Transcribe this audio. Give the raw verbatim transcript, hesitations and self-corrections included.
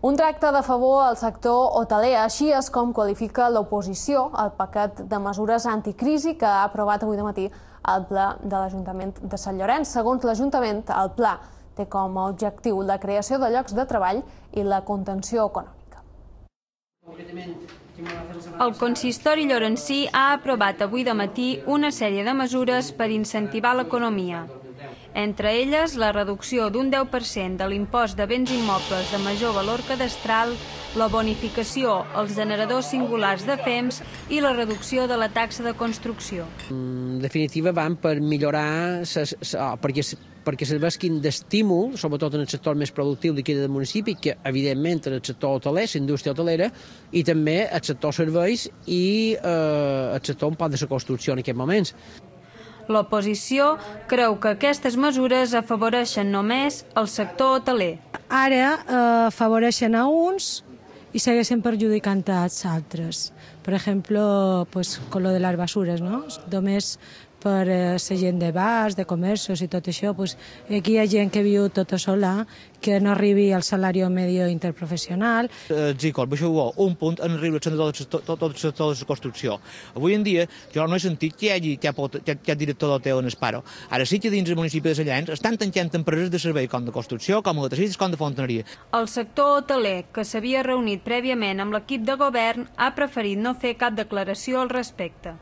Un tracte de favor al sector hoteler, així és com qualifica l'oposició al paquet de mesures anticrisi que ha aprovat avui de matí el Ple de l'Ajuntament de Sant Llorenç. Segons l'Ajuntament, el pla té com a objectiu la creació de llocs de treball i la contenció econòmica. El consistori llorencí ha aprovat avui de matí una sèrie de mesures per incentivar l'economia. Entre elles, la reducció d'un deu per cent de l'impost de béns immobles de major valor cadastral, la bonificació als generadors singulars de F E M S i la reducció de la taxa de construcció. En definitiva, van per millorar, perquè perquè serveixin d'estímul, sobretot en el sector més productiu d'aquí del municipi, que evidentment en el sector hoteler, la indústria hotelera, i també el sector serveis i eh, el sector un poc de la construcció en aquests moments. L'oposició creu que aquestes mesures afavoreixen només el sector hoteler. Ara eh, afavoreixen a uns i segueixen perjudicant als altres. Per exemple, pues, con lo de les basures, no? Només per la gent de bars, de comerços i tot això, pues, aquí hi ha gent que viu tota sola, que no arribi al salari medio interprofessional. Els I C O, baixeu un punt en arriba tot el sector de la construcció. Avui en dia jo no he sentit que hi hagi cap director d'hotel en el paro. Ara sí que dins del municipi de Sant Llorenç estan tancant empreses de servei com de construcció, com electricistes, com de fontaneria. El sector hoteler, que s'havia reunit prèviament amb l'equip de govern, ha preferit no fer cap declaració al respecte.